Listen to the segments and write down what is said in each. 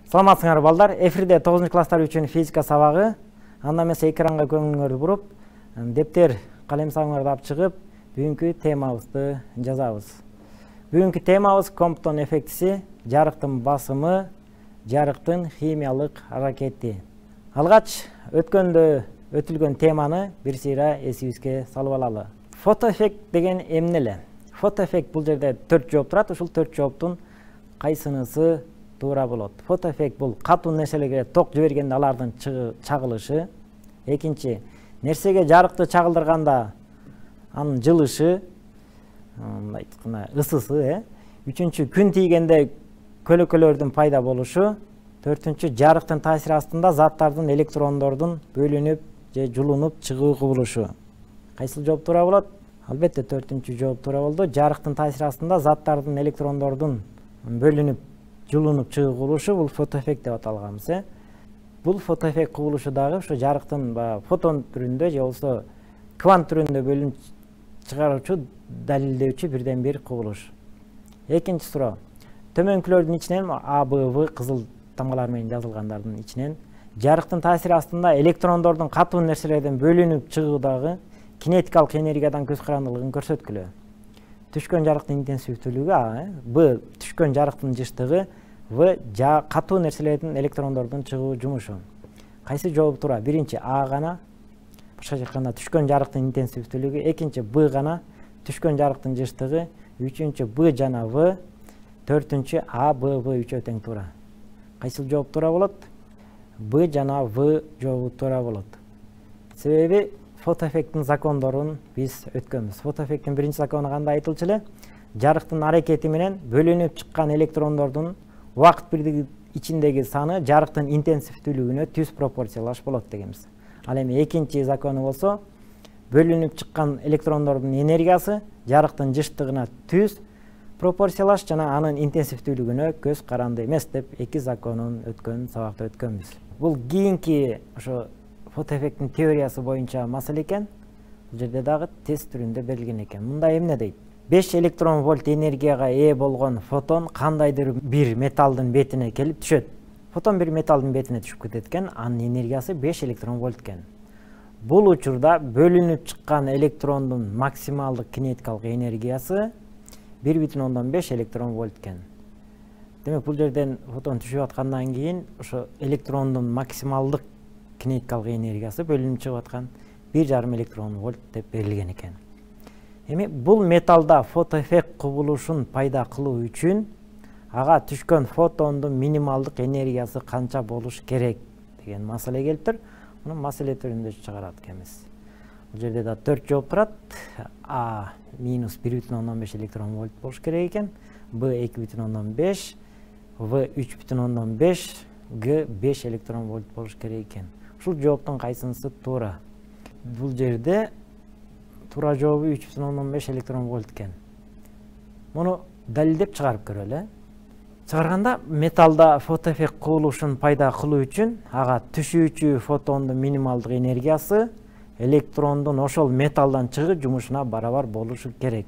Саламатсыңар балдар, эфирде 9 класстар үчүн физика сабагы. Анда эмесе экранга көңүлүңөрдү буруп, дептер, калем сабыңарды алып чыгып, бүгүнкү темабызды жазабыз. Бүгүнкү темабыз Комптон эффектиси, жарыктын басымы, жарыктын химиялык аракети. Алгач өткөндө өтүлгөн теманы бир сыйра эсибизге салып алалы. Фотоэффект деген эмне эле? Фотоэффект бул жерде 4 жооп турат. Ушул 4 жооптун кайсынысы туура болот? Фотоэффект бул катуу нерселерге ток жибергенде алардын чагылышы. Экинчи, нерсеге жарыкты чагылдырганда анын жылышы, мындай айтканда ысысы, Үчүнчү, күн тийгенде көлөкөлөрдүн пайда болушу. Төртүнчү, жарыктын таасири астында заттардын электрондордун бөлүнүп же жулунуп чыгуу кубулушу. Кайсыл жооп туура болот? Албетте төртүнчү жооп туура болду. Жарыктын таасири астында заттардын электрондордун бөлүнүп жулунуп чыгуу кубулушу бул фотоэффект деп аталганбыз. Бул фотоэффект кубулушу дагы ушу жарыктын фотон түрүндө же болбосо квант түрүндө бөлүнүп чыгаруучу, далилдөөчү бирден бир кубулуш. Экинчи суроо. Төмөнкүлөрдүн ичинен А, Б, В кызыл тамгалар менен жазылгандардын ичинен жарыктын таасири астында электрондордун катуу нерселерден бөлүнүп чыгуудагы кинетикалык энергиядан көз карандылыгын көрсөткүлө. Түшкөн жарыктын интенсивдүүлүгү А, Б түшкөн жарыктын жыштыгы, В катуу нерселердин электрондордун чыгуу жумушу. Кайсы жооп туура? Биринчи А гана, башкача айтканда түшкөн жарыктын интенсивдүүлүгү, экинчи Б гана, түшкөн жарыктын жыштыгы, үчүнчү Б жана В, төртүнчү А, Б, В үчөө тең туура. Кайсыл жооп туура болот? Б жана В жообу туура болот. Себеби фотоэффекттин закондорун биз өткөнбүз. Фотоэффекттин биринчи закону кандай айтылчу эле? Жарыктын аракети менен бөлүнүп чыккан электрондордун убакыт бирдиги ичиндеги саны жарыктын интенсивдүүлүгүнө түз пропорциялаш болот дегенбиз. Ал эми экинчи закону болсо, бөлүнүп чыккан электрондордун энергиясы жарыктын жыштыгына түз пропорциялаш жана анын интенсивдүүлүгүнө көз каранды эмес деп эки законун өткөн сабакта өткөнбүз. Бул кийинки ошо фотоэффекттин теориясы боюнча маселе экен. Бул жерде дагы тест түрүндө берилген экен. Мында эмне дейт? 5 электрон вольт энергияга ээ болгон фотон кандайдыр бир металдын бетине келип түшөт. Фотон бир металдын бетине түшүп кетет экен, анын энергиясы 5 электрон вольт экен. Бул учурда бөлүнүп чыккан электрондун максималдык кинетикалык энергиясы 1,5 электрон вольт экен. Демек бул жерден фотон түшүп аткандан кийин ошо электрондун максималдык кинетикалык энергиясы бөлүнүп чыгып аткан 1,5 электрон вольт деп берилген экен. Эми бул металда фотоэффект кубулушун пайда кылуу үчүн ага түшкөн фотондун минималдык энергиясы канча болуш керек деген маселе келиптир. Муну маселе түрүндө чыгарат экенбиз. Бул жерде да 4 жооп турат. А минус 1,5 электрон вольт болуш керек экен. Б 2,5, В 3,5, Г 5 электрон вольт болуш керек экен. Ушул жооптун кайсынысы туура? Бул жерде туура жообу 3,5 электрон вольт экен. Муну далилдеп чыгарып көрөлү. Чыгарганда металда фотоэффект кубулушун пайда кылуу үчүн ага түшүүчү фотондун минималдык энергиясы электрондун ошол металдан чыгуу жумушуна барабар болушу керек.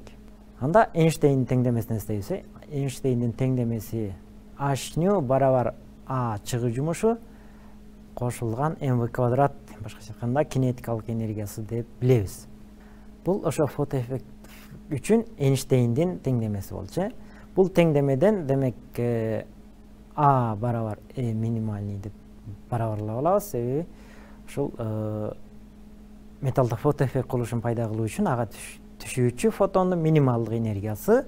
Анда Эйнштейндин теңдемесин эстейбиз. Эйнштейндин теңдемеси h барабар А чыгуу жумушу кошулган mv квадрат, башкача айтканда кинетикалык энергиясы деп билебиз. Бул ошо фотоэффект үчүн Эйнштейндин теңдемеси болчу. Бул теңдемеден демек А барабар E минимальный деп барабарлап алабыз. Себеби ушул металда фотоэффект кылышын пайда кылуу үчүн ага түшүүчү фотондун минималдык энергиясы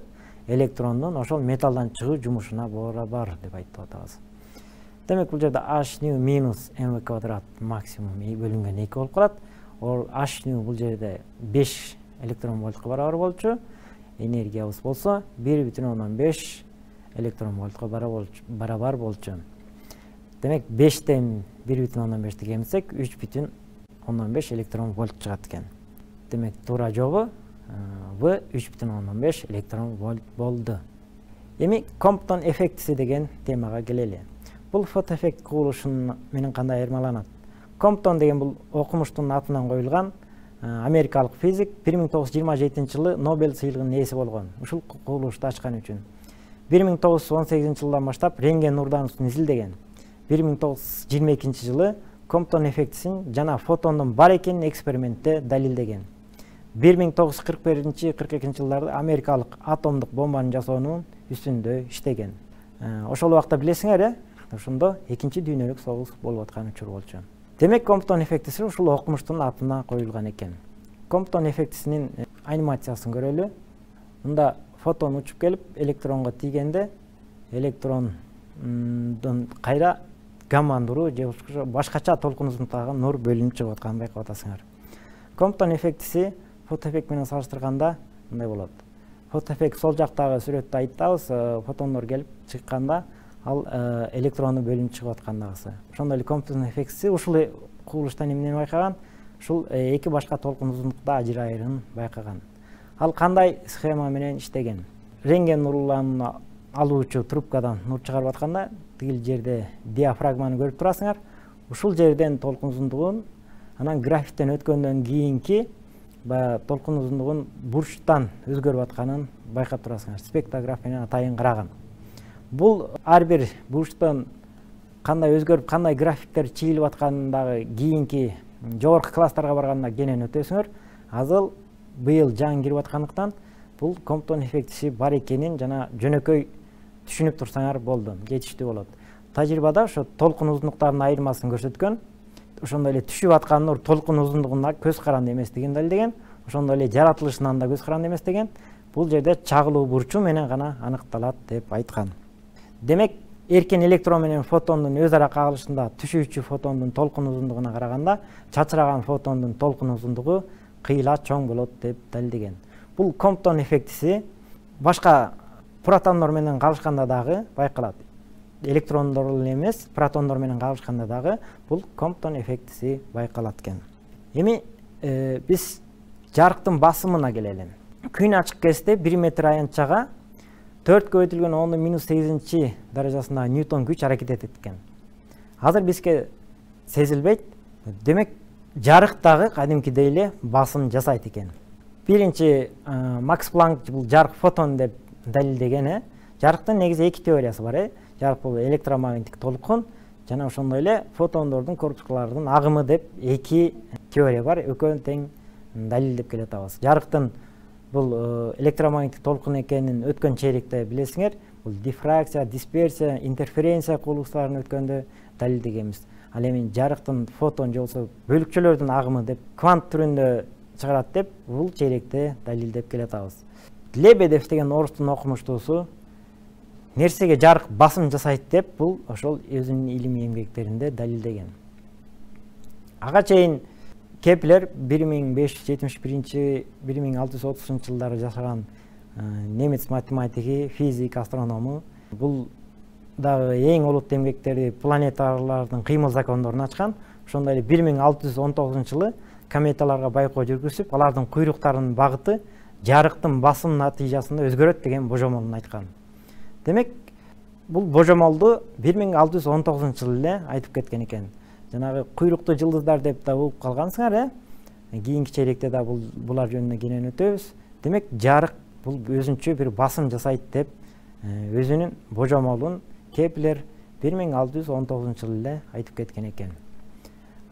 электрондун ошол металдан чыгуу жумушуна барабар деп айтып атабыз. Демек бул жерде h минус mv квадрат максимум бөлүнгөн 2 болуп калат. Ол h бул жерде 5 электрон вольтко барабар болчу. Энергиябыз болсо 1,5 электрон вольтко барабар болчу. Демек 5тен 1,5 кемсек 3,5 электрон вольт чыгат экен. Демек туура жообу В 3,5 электрон вольт болду. Эми Комптон эффектиси деген темага келели. Бул фотоэффект кубулушун менен кандай айырмаланат? Комптон деген бул окумуштун атынан коюлган америкалык физик 1927-жылы Нобель сыйлыгынын ээси болгон. Ушул кубулушту ачкан үчүн 1918-жылдан баштап рентген нурдануусун изилдеген. 1922 жылы Комптон эффектисин жана фотондун бар экенин экспериментте далилдеген. 1941-42 жылдарда америкалык атомдук бомбаны жасоонун үстүндө иштеген. Ошол убакта билесиңер, ошондо экинчи дүйнөлүк согуш болуп аткан учур болчу. Демек Комптон эффектиси ушул окумуштун атына коюлган экен. Комптон эффектисинин анимациясын көрөлү. Мында фотон учуп келип электронго тийгенде электрондун кайра гамма нуру же башкача толкун узунтугундагы нур бөлүнүп чыгып атканын байкап атасыңар. Комптон эффектиси фотоэффект менен салыштырганда мындай болот. Фотоэффект сол жактагы сүрөттө айтабыз, фотондор келип чыкканда ал электрону бөлүнүп чыгып аткандагысы. Ошондой эле Комптон эффектиси ушул кубулуштан эмнени байкаган? Ушул эки башка толкун узунтукта ажырайырын байкаган. Ал кандай схема менен иштеген? Рентген нурларын алуучу трубкадан нур чыгарып атканда, тигил жерде диафрагманы көрүп турасыңар. Ушул жерден толкун узундугун, анан графиктен өткөндөн кийинки толкун узундугун бурчтан өзгөрүп атканын байкап турасыңар. Спектрограф менен атайын караган. Бул ар бир бурчтан кандай өзгөрүп, кандай графиктер чийилип аткандагы кийинки жогорку класстарга барганда кенен өтөсүңөр. Азыр быйыл жаңы кирип аткандыктан бул Комптон эффектиси бар экенин жана жөнөкөй түшүнүп турсаңар болду, жетиштүү болот. Тажрыйбада ошо толкун узундуктарынын айырмасын көрсөткөн. Ошондой эле түшүп аткан нур толкун узундугунда көз каранды эместигин далилдеген. Ошондой эле жаратылышынан да көз каранды эмес деген. Бул жерде чагылуу бурчу менен гана аныкталат деп айткан. Демек, эркен электрон менен фотондун өз ара кагылышында түшүүчү фотондун толкун узундугуна караганда чачыраган фотондун толкун узундугу кыйла чоң болот деп далилдеген. Бул Комптон эффектиси башка протондор менен кагылышканда дагы байкалат. Электрондор эле эмес, протондор менен кагылышканда дагы бул Комптон эффектиси байкалат экен. Эми биз жарыктын басымына келели. Күн ачык кезде 1 метр аянтчага 4 көбөйтүлгөн 10⁻⁸ даражасындагы Ньютон күч аракет этет экен. Азыр бизге сезилбейт. Демек, жарык дагы кадимкидей эле басым жасайт экен. Биринчи Макс Планк бул жарык фотон деп далилдеген. Жарыктын негизи эки теориясы бар. Жарык бул электромагниттик толкун жана ошондой эле фотондордун корпускалардын агымы деп эки теория бар. Экөөнүн тең далилдеп келе атабыз. Жарыктын бул электромагниттик толкун экенин өткөн чейректе билесиңер, бул дифракция, дисперсия, интерференция кубулуштарын өткөндө далилдегенбиз. Ал эми жарыктын фотон же болсо бөлүкчөлөрдүн агымы деп квант түрүндө чыгарат деп бул чейректе далилдеп келе атабыз. Лебедев деген орустун окумуштуусу нерсеге жарык басым жасайт деп бул ошол өзүнүн илимий эмгектеринде далилдеген. Ага чейин Кеплер 1571-1630 жылдары жашаган немец математиги, физик, астроному. Бул дагы эң олуттуу эмгектери планеталардын кыймыл закондорун ачкан. Ошондой эле 1619 жылы кометаларга байкоо жүргүзүп, алардын куйруктарынын багыты жарыктын басым натыйжасында өзгөрөт деген божомолун айткан. Демек, бул божомолду 1619 жылы эле айтып кеткен экен. Жанагы куйруктуу жылдыздар деп да угуп калгансыңар, кийинки чейректе да булар жөнүндө кенен өтөбүз. Демек, жарык бул өзүнчө бир басым жасайт деп өзүнүн божомолун Кеплер 1619 жылы эле айтып кеткен экен.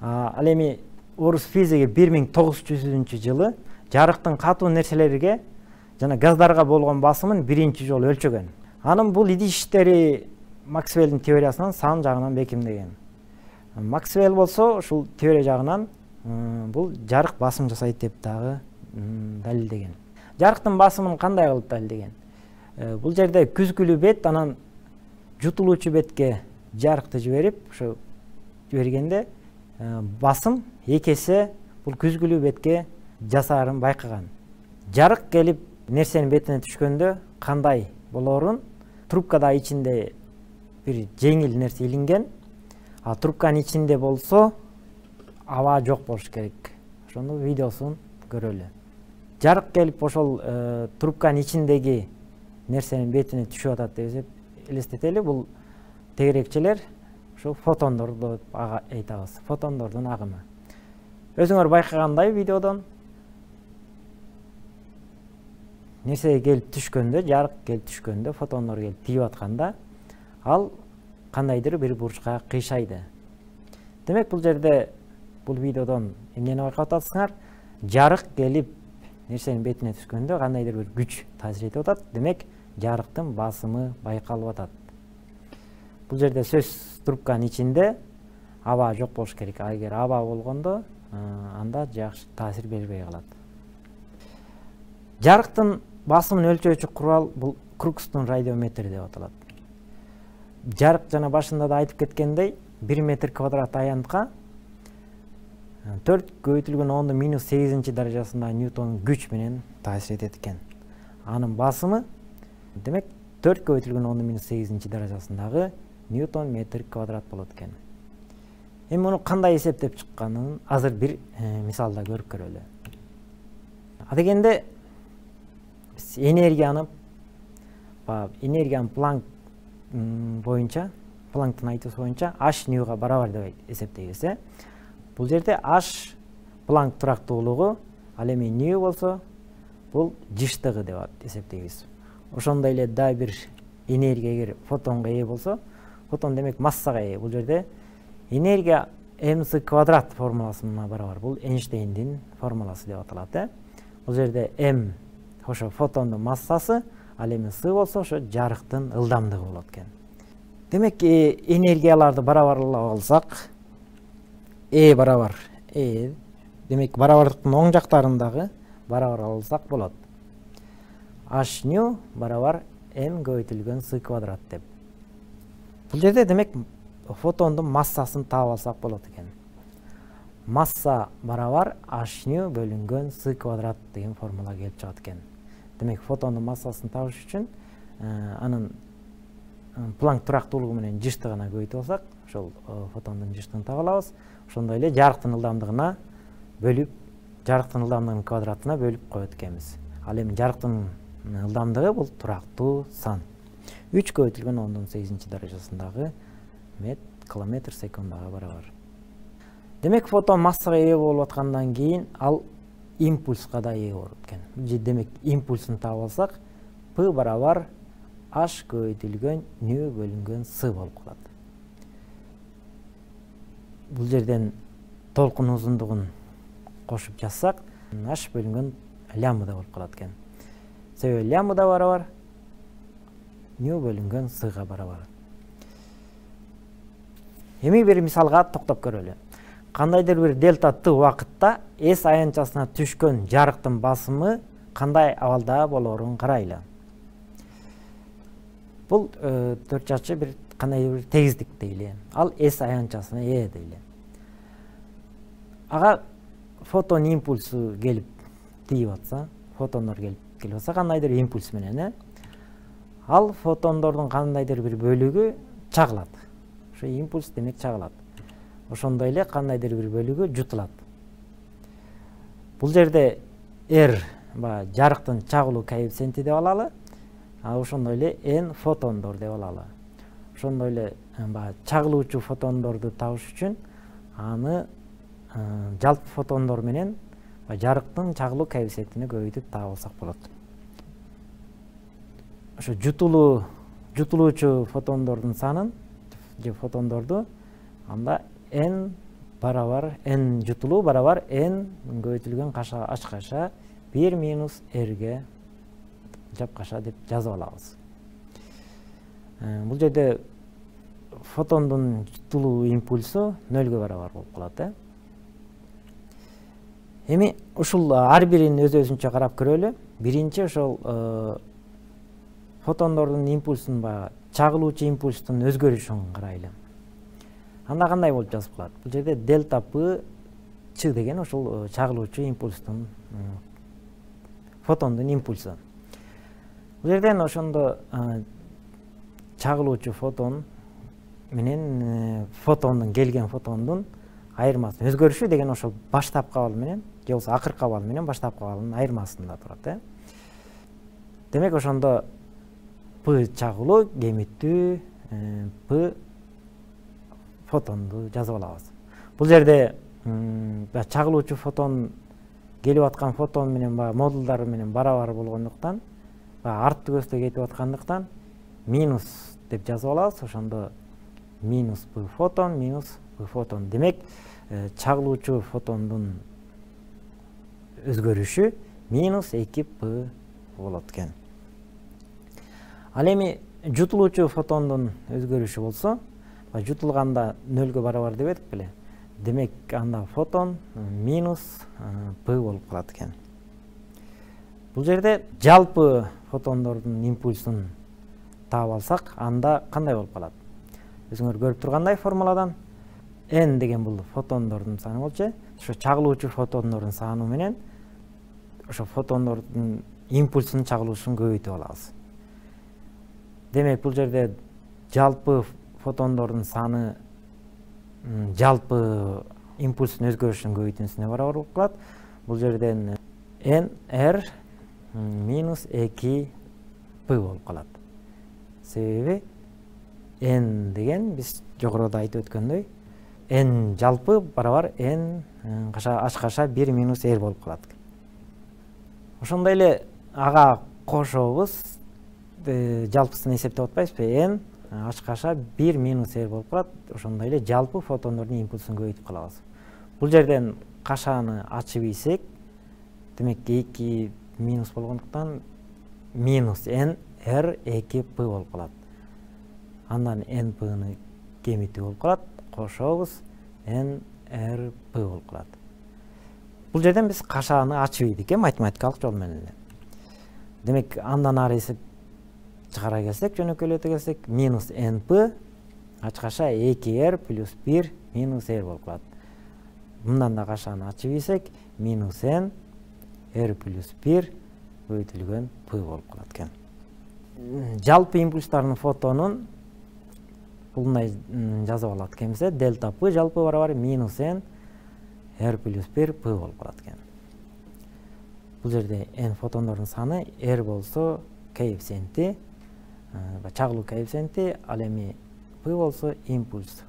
Ал эми орус физиги 1900 жылы жарыктын катуу нерселерге жана газдарга болгон басымын биринчи жолу өлчөгөн. Анын бул идиштери Максвеллдин теориясынан сан жагынан бекемдеген. Максвелл болсо ушул теория жагынан бул жарык басым жасайт деп дагы далилдеген. Жарыктын басымын кандай кылып далилдеген? Бул жерде күзгүлүү бет, анан жутулуучу бетке жарыкты жиберип, ошо жибергенде басым эки эсе бул күзгүлүү бетке жасаарын байкаган. Жарык келип нерсенин бетине түшкөндө кандай болоорун трубкада ичинде бир жеңил нерсе илинген, а трубканын ичинде болсо аба жок болуш керек. Ошондо видеосун көрөлү. Жарык келип ошол трубканын ичиндеги нерсенин бетине түшүп атат деп элестетели. Бул тегерекчелер ошо фотондорду айтабыз. Фотондордун агымы. Өзүңөр байкагандай видеодон нерсе келип түшкөндө, жарык келип түшкөндө, фотондор келип тийип атканда, ал кандайдыр бир бурчка кыйшайды. Демек бул жерде бул видеодон эмнени байкап атасыңар? Жарык келип нерсенин бетине түшкөндө кандайдыр бир күч таасир этип атат. Демек жарыктын басымы байкалып атат. Бул жерде сөз трубканын ичинде аба жок болуш керек. Эгер аба болгондо анда жакшы таасир бербей калат. Жарыктын басымын өлчөөчү курал бул Крукстун радиометри деп аталат. Жарык жана башында да айтып кеткендей 1 метр квадрат аянтка 4 көбөйтүлгөн 10⁻8 даражасында Ньютон күч менен таасир этет экен. Анын басымы демек 4 көбөйтүлгөн 10⁻8 даражасындагы Ньютон метр квадрат болот экен. Эми муну кандай эсептеп чыкканын азыр бир мисалда көрүп көрөлү. Адегенде биз энергиянын Планк боюнча, Планктын айтуусу боюнча h ньюга барабар деп эсептейбиз. Бул жерде h Планк турактуулугу, ал эми нью болсо бул жыштыгы деп эсептейбиз. Ошондой эле да бир энергия эгер фотонго ээ болсо, фотон демек массага ээ. Бул жерде энергия mc квадрат формуласына барабар. Бул Эйнштейндин формуласы деп аталат. Бул жерде m ошо фотондун массасы, ал эми с болсо ошо жарыктын ылдамдыгы болот экен. Демек энергияларды барабарлап алсак, e барабар e, демек барабардыктын оң жактарындагы барабар алсак болот. h нью барабар m көбөйтүлгөн s квадрат деп. Бул жерде демек фотондун массасын таап алсак болот экен. Масса барабар h нью бөлүнгөн s квадрат деген формула келип чыгат экен. Демек фотондун массасын табыш үчүн анын Планк турактуулугу менен жыштыгына көбөйтүп алсак, ошол фотондун жыштыгын таба алабыз. Ошондой эле жарыктын ылдамдыгына бөлүп, жарыктын ылдамдыгынын квадратына бөлүп коет экенбиз. Ал эми жарыктын ылдамдыгы бул турактуу сан. 3 көбөйтүлгөн 10⁸ даражасындагы километр секундага барабар. Демек фотон массага ээ болуп аткандан кийин ал импульска да ээ болот экен. Демек импульсун таап алсак, p барабар h көбөйтүлгөн нью бөлүнгөн s болуп калат. Бул жерден толкун узундугун кошуп жазсак, h бөлүнгөн лямбда болуп калат экен. Себеби лямбда барабар нью бөлүнгөн s-га барабар. Эми бир мисалга токтоп көрөлү. Кандайдыр бир дельта t убакытта S аянтчасына түшкөн жарыктын басымы кандай абалда болоорун карайлы. Бул төрт жакчы бир кандайдыр бир тегиздик дейли. Ал S аянтчасына ээ дейли. Ага фотон импульсу келип тийип атса, фотондор келип атса кандайдыр импульс менен, ал фотондордун кандайдыр бир бөлүгү чагылат. Ошо импульс демек чагылат. Ошондой эле кандайдыр бир бөлүгү жутулат. Бул жерде R жарыктын чагылуу коэффициенти деп алалы. Ошондой эле n фотондор деп алалы. Ошондой эле чагылуучу фотондорду табыш үчүн аны жалпы фотондор менен жарыктын чагылуу коэффициентини көбөйтүп таап алсак болот. Ошо жутулуучу фотондордун санын же фотондорду анда n барабар n жутулуу барабар n көбөйтүлгөн h каша 1 минус r'ге жапкаша деп жазып алабыз. Бул жерде фотондун жутулуу импульсу 0ге барабар болуп калат. Эми ушул ар бирин өз-өзүнчө карап көрөлү. Биринчи ошол фотондордун импульсун чагылуучу импульстун өзгөрүшүн карайлы. Анда кандай болуп жазып калат? Бул жерде дельта p ч деген ошол чагылуучу импульстун фотондун импульсу. Бул жерден ошондо чагылуучу фотон менен келген фотондун айырмасы өзгөрүшү деген ошол баштапкы абал менен же болбосо акыркы абал менен баштапкы абалдын айырмасында турат. Демек ошондо p чагылуу кемиттүү, p фотонду жазып алабыз. Бул жерде чагылуучу фотон келип аткан фотон менен модулдары менен барабар болгондуктан, артты көздө кетип аткандыктан минус деп жазып алабыз. Ошондо минус P фотон минус P фотон. Демек, чагылуучу фотондун өзгөрүшү минус 2P болот экен. Ал эми жутулуучу фотондун өзгөрүшү болсо, жутулганда 0-гө барабар деп эдик беле. Демек, анда фотон минус P болуп калат экен. Бул жерде жалпы фотондордун импульсун таап алсак, анда кандай болуп калат? Өзүңөр көрүп тургандай формуладан n деген бул фотондордун саны болчу. Ошо чагылуучу фотондордун саны менен ошо фотондордун импульсунун чагылуушун көбөйтүп алабыз. Демек, бул жерде жалпы фотондордун саны жалпы импульстун өзгөрүшүнүн көбөйтүүсүнө барабар болуп калат. Бул жерден n r минус 2P болуп калат. Себеби n деген биз жогоруда айтып өткөндөй, n жалпы барабар n h 1 минус r болуп калат. Ошондой эле ага кошобуз, жалпысын эсептеп атпайбызбы? n h 1 минус r болуп калат. Ошондой эле жалпы фотондордун импульсун көбөйтүп калабыз. Бул жерден кашаны ачып ийсек, демек 2 минус болгондуктан минус n r 2P болуп калат. Андан np-ны кемитүү болуп калат. Кошобуз n r p болуп калат. Бул жерден биз кашаны ачып ийдик, математикалык жол менен эле. Демек, андан ары эсеп чыгара келсек, жөнөкөйлөтө келсек, минус np h 2r плюс 1 минус r болуп калат. Мындан да кашаны ачып ийсек, минус n r плюс 1 көбөйтүлгөн p болуп калат экен. Жалпы импульстардын фотонун булундай жазып алат экенбиз. Дельта p жалпы барабар минус n r плюс 1 p болуп калат экен. Бул жерде n фотондордун саны, r болсо коэффициенти, чагылуу коэффициенти, ал эми p болсо импульс.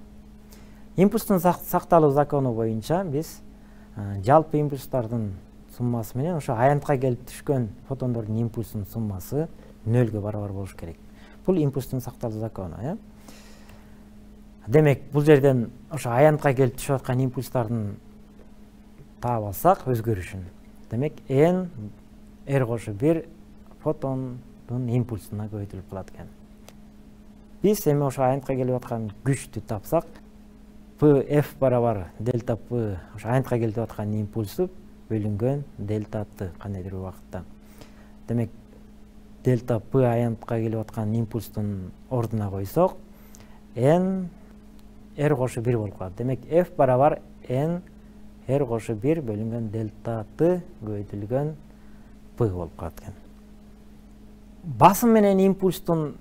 Импульстун сакталуу закону боюнча биз жалпы импульстардын суммасы менен ошо аянтка келип түшкөн фотондордун импульсунун суммасы 0-гө барабар болуш керек. Бул импульстун сакталуу закону. Демек, бул жерден ошо аянтка келип түшүп аткан импульстардын таап алсак өзгөрүшүн. Демек, n r кошу 1 фотондун импульсуна көбөйтүлүп калат экен. Биз эми ошо аянтка келип аткан күчтү тапсак, F барабар дельта P ошо аянтка келип аткан импульсу бөлүнгөн дельта T кандайдыр бир убакытта. Демек, дельта P аянтка келип аткан импульстун ордуна койсок, n r кошу 1 болуп калат. Демек, F барабар n r кошу 1 бөлүнгөн дельта T көбөйтүлгөн P болуп калат экен. Басым менен импульстун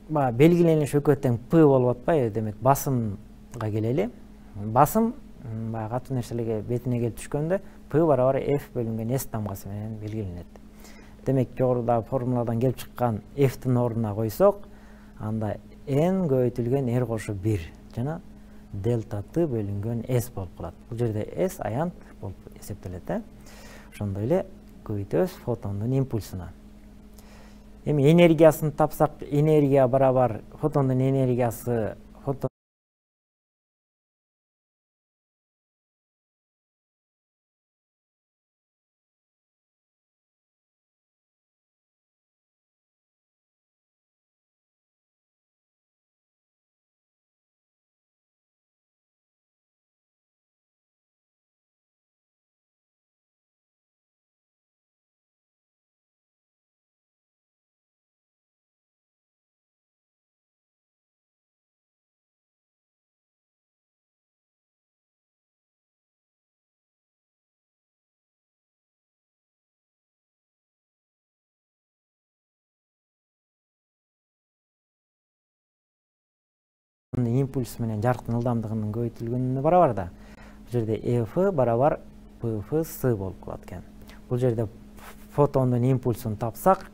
белгилениш экөө тең P болуп атпайбы? Демек, басымга келели. Басым катуу нерселерге бетине келип түшкөндө P барабар F бөлүнгөн S тамгасы менен белгиленет. Демек, жогоруда формуладан келип чыккан F'тин ордуна койсок, анда n көбөйтүлгөн r кошу 1 жана дельта T бөлүнгөн S болуп калат. Бул жерде S аянт болуп эсептелет. Ошондой эле көбөйтөбүз фотондун импульсуна. Эми энергиясын тапсак, энергия барабар фотондун энергиясы импульс менен жарыктын ылдамдыгынын көбөйтүлгөнүнө барабар да. Бул жерде F барабар PF болуп калат экен. Бул жерде фотондун импульсун тапсак,